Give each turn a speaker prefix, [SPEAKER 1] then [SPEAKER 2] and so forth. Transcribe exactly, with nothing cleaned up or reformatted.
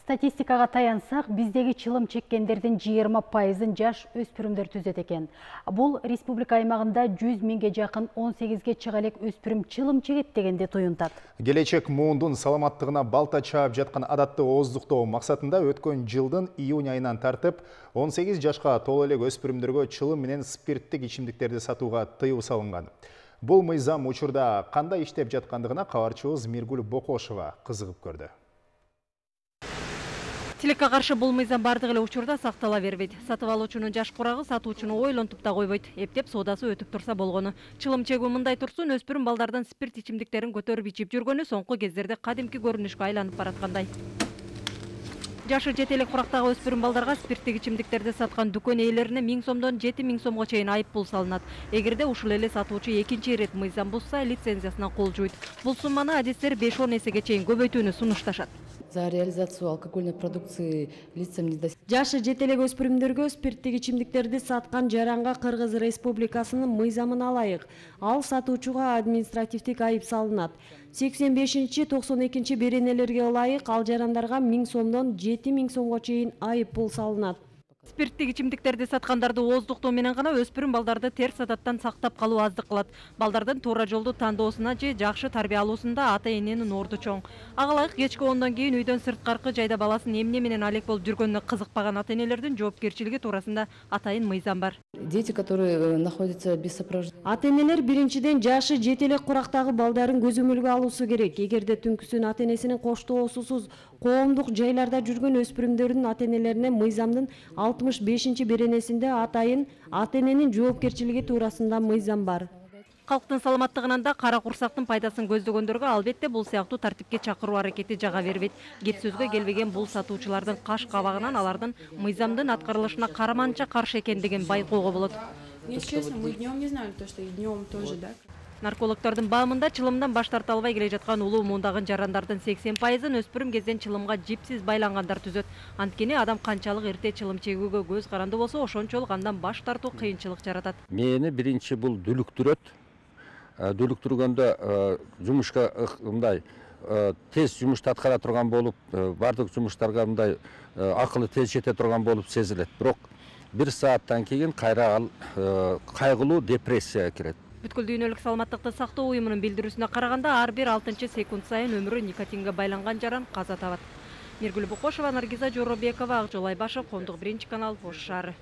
[SPEAKER 1] Статистикага таянсак, биздеги чылым чеккендердин жыйырма пайызын жаш өспүрүмдөр түзөт экен. Бул республика аймагында жүз миңге жакын он сегизге чыга элек өспүрүм чылым чегет дегенди туюнтат.
[SPEAKER 2] Келечек муундун саламаттыгына балта чаап жаткан адатты ооздуктоо максатында өткөн жылдын июнь айынан тартып он сегиз жашка толо элек өспүрүмдөргө чылым менен спирттик ичимдиктерди сатууга тыюу салынган. Бул мыйзам учурда кандай иштеп жаткандыгына кабарчыбыз Миргүл Бокошова кызыгып көрдү.
[SPEAKER 3] Тилекке каршы бул мыйзам бардык эле учурда сактала бербейт. Сатып алуучунун жаш курагы сатуучуну ойлонтуп да койбойт. Эптеп соодасы өтүп турса болгону. Чылым чегүү мындай турсун, өспүрүм балдардан спирт ичимдиктерин көтөрүп ичип жүргөнү соңку кездерде кадимки көрүнүшкө айланып бараткандай. Жашы жете элек курактагы өспүрүм балдарга спирттик ичимдиктерди саткан дүкөн ээлерине миң сомдон жети миң сомго чейин айып пул салынат. Эгерде ушул эле сатуучу экинчи ирет мыйзам бузса, лицензиясынан кол жууйт. Бул сумманы адистер беш он эсеге чейин көбөйтүүнү сунушташат.
[SPEAKER 4] За реализацию алкогольной продукции лицам не достиг.
[SPEAKER 5] Жашы жете элек өспүрүмдөргө спирттик ичимдиктерди саткан жаранга Кыргыз Республикасынын мыйзамына ылайык ал сатуучуга административдик айып салынат. сексен бешинчи токсон экинчи беренелерге ылайык ал жарандарга миң сомдон жети миң сомго чейин айып пул салынат.
[SPEAKER 3] Спирттик ичимдиктерди саткандарды ооздуктоо менен гана өспүрүм балдарды терс адаттан сактап калуу аздык кылат. Балдардын туура жолду тандоосуна же жакшы тарбия алуусунда ата эненин орду чоң. Ага ылайык кечки ондон кийин үйдөн сырткаркы жайда баласын эмне менен алек болуп жүргөнүнө кызыкпаган ата энелердин жоопкерчилиги туурасында атайын мыйзам бар.
[SPEAKER 4] Дети, которые находятся без сопровождения.
[SPEAKER 5] Ата энелер биринчиден жашы жете элек курактагы балдарын көзөмөлгө алуусу керек. Эгерде түнкүсүн ата энесинин коштоосусуз коомдук жайларда жүргөн өспүрүмдөрдүн ата энелерине мыйзамдын алтымыш бешинчи беренесинде атайын ата эненин жоопкерчилиги туурасында мыйзам бар.
[SPEAKER 3] Калктын саламаттыгынан да кара курсактын пайдасын көздөгөндөргө албетте бул сыяктуу тартипке чакыруу аракети жага бербейт. Кеп сөзгө келбеген бул сатуучулардын каш кабагынан алардын мыйзамдын аткарылышына караманча каршы экендигин байкоого болот.
[SPEAKER 6] Если честно, мы днем не знали то, что и днем тоже, да?
[SPEAKER 3] Наркологдордун баамында чылымдан баш тарта албай келе жаткан улуу муундагы жарандардын сексен пайызын өспүрүм кезден чылымга жипсиз байлангандар түзөт. Анткени адам канчалык эрте чылым чегүүгө көз каранды болсо, ошончолук андан баш тартуу кыйынчылык жаратат.
[SPEAKER 7] Мени биринчи бул дүлүктүрөт. Дүлүктүргөндө жумушка мындай тез жумушту аткара турган болуп, бардык жумуштарга мындай акылы тез жете турган болуп сезилет. Бирок бир сааттан кийин кайра ал кайгылуу депрессияга кирет.
[SPEAKER 3] Бүткүл дүйнөлүк саламаттыкты сактоо уюмунун билдирүүсүнө караганда ар бир алтынчы секунд сайын өмүрү никотинге байланган жаран каза табат. Миргүл Бокошова, Наргиза Жоробекова, Акжол Айбашев, Коомдук биринчи канал, Ош шаары.